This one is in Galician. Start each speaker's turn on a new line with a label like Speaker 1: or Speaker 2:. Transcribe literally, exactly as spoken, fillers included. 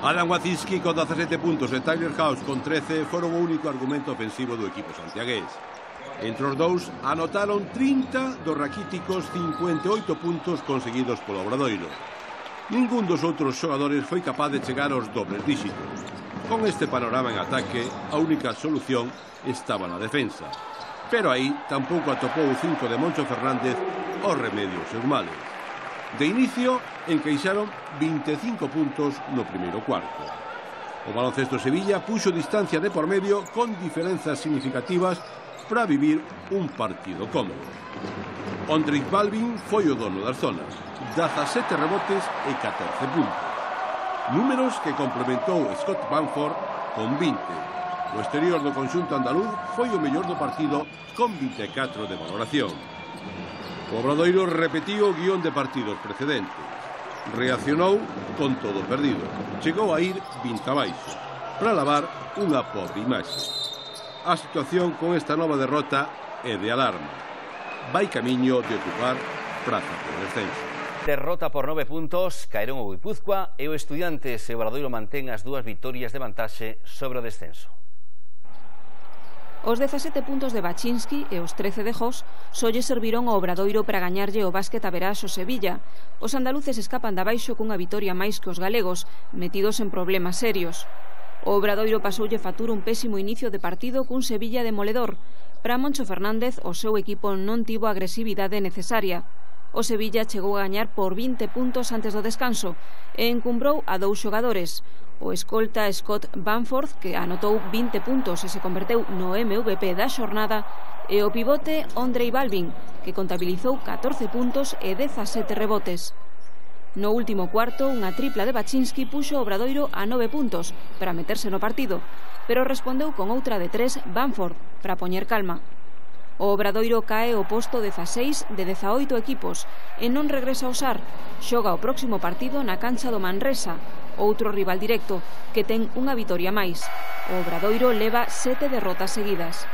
Speaker 1: Adam Wacinski con dezasete puntos e Tyler House con trece foron o único argumento ofensivo do equipo santiagués. Entre os dous anotaron trinta dos raquíticos cincuenta e oito puntos conseguidos polo Obradoiro. Ningún dos outros xogadores foi capaz de chegar aos dobles díxitos. Con este panorama en ataque, a única solución estaba na defensa. Pero aí tampouco atopou o cinco de Moncho Fernández o remedio aos seus males. De inicio, encaixaron vinte e cinco puntos no primeiro cuarto. O baloncesto Sevilla puxo distancia de por medio con diferenzas significativas para vivir un partido cómodo. Ondrej Balvin foi o dono das zonas, dezasete rebotes e catorce puntos. Números que complementou Scott Bamford con vinte. O exterior do conxunto andaluz foi o mellor do partido con vinte e catro de valoración. O Obradoiro repetiu o guión de partidos precedentes. Reaccionou con todo perdido. Chegou a ir vinte abaixo, para lavar unha pobre imaxe. A situación con esta nova derrota é de alarma. Vai camiño de ocupar praza por descenso.
Speaker 2: Derrota por nove puntos, caeron o Guipúzcoa e o Estudiantes e o Obradoiro mantén as dúas vitorias de vantaxe sobre o descenso.
Speaker 3: Os dezasete puntos de Wacinski e os trece de Jos só lle serviron ao Obradoiro para gañarlle o básquet a verás o Sevilla. Os andaluces escapan de abaixo cunha vitoria máis que os galegos, metidos en problemas serios. O Obradoiro pasoulle factura un pésimo inicio de partido cun Sevilla demoledor. Para Moncho Fernández, o seu equipo non tivo a agresividade necesaria. O Sevilla chegou a gañar por vinte puntos antes do descanso e encumbrou a dous xogadores. O escolta Scott Bamford, que anotou vinte puntos e se converteu no M V P da xornada, e o pivote Ondrej Balvin, que contabilizou catorce puntos e dezasete rebotes. No último cuarto, unha tripla de Wacinski puxo o Obradoiro a nove puntos para meterse no partido, pero respondeu con outra de tres Bamford para poñer calma. O Obradoiro cae ao posto dezaseis de dezaoito equipos e non regresa ao S A R. Xoga o próximo partido na cancha do Manresa, outro rival directo, que ten unha vitoria máis. O Obradoiro leva sete derrotas seguidas.